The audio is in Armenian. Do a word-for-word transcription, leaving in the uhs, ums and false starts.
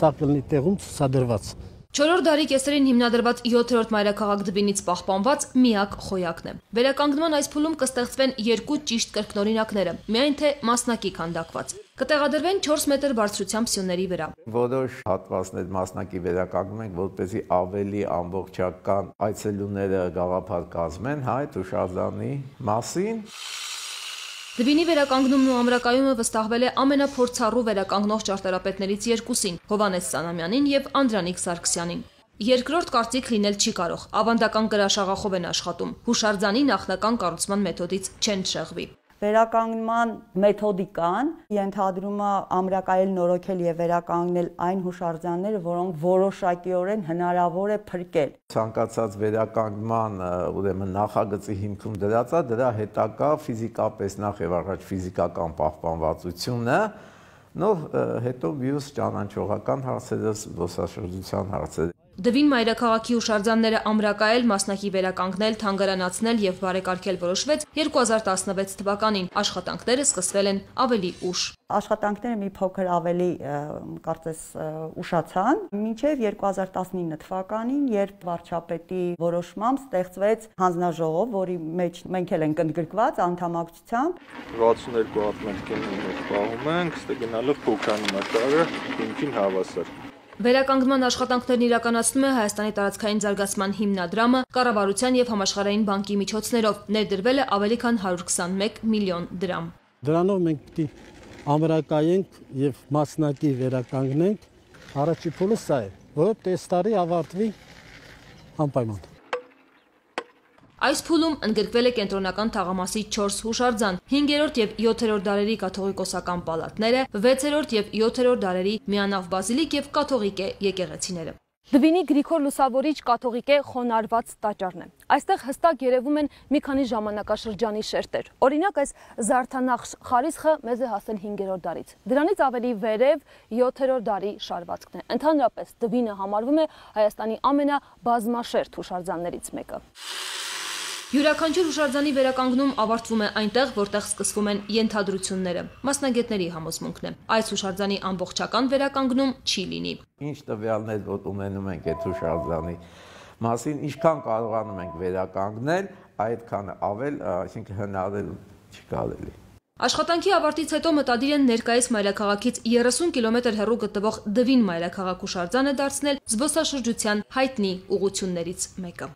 սա կլինի տեղում ցուցադրված։ Չորրորդ դարի կեսերին հիմնադրված յոթերորդ մայրաքաղաք Դվինից պահպանված միակ խոյակն է։ Վերականգնման այս փուլում կստեղծվեն երկու ճիշտ կրկնօրինակները, միայն թե մասնակի քանդակված։ Կտեղադրվեն չորս մետր բարձրությամբ սյունների վրա։ Որոշ հատվածներ մասնակի վերականգնում ենք, որպեսզի ավելի ամբողջական այցելուները գաղափար կազմեն այդ հուշարձանի մասին։ Դվինի վերականգնումն ու ամրակայումը վստահվել է ամենափորձառու վերականգնող ճարտարապետներից երկուսին՝ Հովհաննես Սանամյանին եւ Անդրանիկ Սարգսյանին։ Երկրորդ կարծիք լինել չի կարող, ավանդական կրաշաղախով են աշխատում, հուշարձանի նախնական կառուցման մեթոդից չեն շեղվի։ Վերականգնման մեթոդիկան ենթադրում է ամրակայել, նորոգել եւ վերականգնել այն հուշարձանները, որոնք որոշակիորեն հնարավոր է փրկել։ Ցանկացած վերականգնման ուրեմն նախագծի հիմքում դրած է դրա հետագա ֆիզիկապես նախ եւ առաջ ֆիզիկական պահպանվածությունը, նոր հետո մյուս ճանաչողական հարցերը, զբոսաշրջության հարցերը։ Դվին մայրաքաղաքի հուշարձանները ամրակայել, մասնակի վերականգնել, թանգարանացնել եւ բարեկարգել որոշվեց երկու հազար տասնվեց թվականին։ Աշխատանքները սկսվել են ավելի ուշ։ Աշխատանքները մի փոքր ավելի կարծես ուշացան, մինչև երկու հազար տասնինը թվականին, երբ վարչապետի որոշմամբ ստեղծվեց հանձնաժողով, որի մեջ մենք էլ ենք ընդգրկված անդամակցությամբ։ վաթսուններկու հատ մենք պահում ենք, ստե գնալով փոքրանում է շարը, ինքին հավասար։ Վերականգնման աշխատանքներն իրականացնում է Հայաստանի տարածքային զարգացման հիմնադրամը կառավարության եւ համաշխարհային բանկի միջոցներով, ներդրվել է ավելի քան հարյուր քսանմեկ միլիոն դրամ։ Դրանով մենք պիտի ամրակայենք եւ մասնակի վերականգնենք։ Առաջի փուլը սա է, որ այս տարի ավարտվի անպայման։ Այս փուլում ընդգրկվել է կենտրոնական թաղամասի չորս հուշարձան, հինգերորդ եւ յոթերորդ դարերի կաթողիկոսական պալատները, վեցերորդ եւ յոթերորդ դարերի միանավ բազիլիկ եւ կաթողիկե եկեղեցիները։ Դվինի Գրիգոր Լուսավորիչ կաթողիկե խոնարհված տաճարն է։ Այստեղ հստակ երևում են մի քանի ժամանակաշրջանի շերտեր։ Օրինակ, այս Զարդանախշ խարիսխը մեզ է հասել հինգերորդ դարից։ Դրանից ավելի վերև յոթերորդ դարի շարվածքն է։ Ընդհանրապես Դվինը համարվում է Հայաստանի ամենաբազմաշերտ հուշարձաններից մեկը։ Յուրաքանչյուր հուշարձանի վերականգնում ավարտվում է այնտեղ, որտեղ սկսվում են ենթադրությունները։ Մասնագետների համոզմունքն է։ Այս հուշարձանի ամբողջական վերականգնում չի լինի։ Ինչ տվյալներ որ ունենում ենք այդ հուշարձանի մասին, ինչքան կարողանում ենք վերականգնել, այդքան ավել, այսինքն հնարել չի կարելի։ Աշխատանքի ավարտից հետո մտադիր են ներկայիս մայրաքաղաքից երեսուն կիլոմետր հեռու գտնվող Դվին մայրաքաղաք հուշարձանը դարձնել զբոսաշրջության հայտնի ուղղություններից մեկը։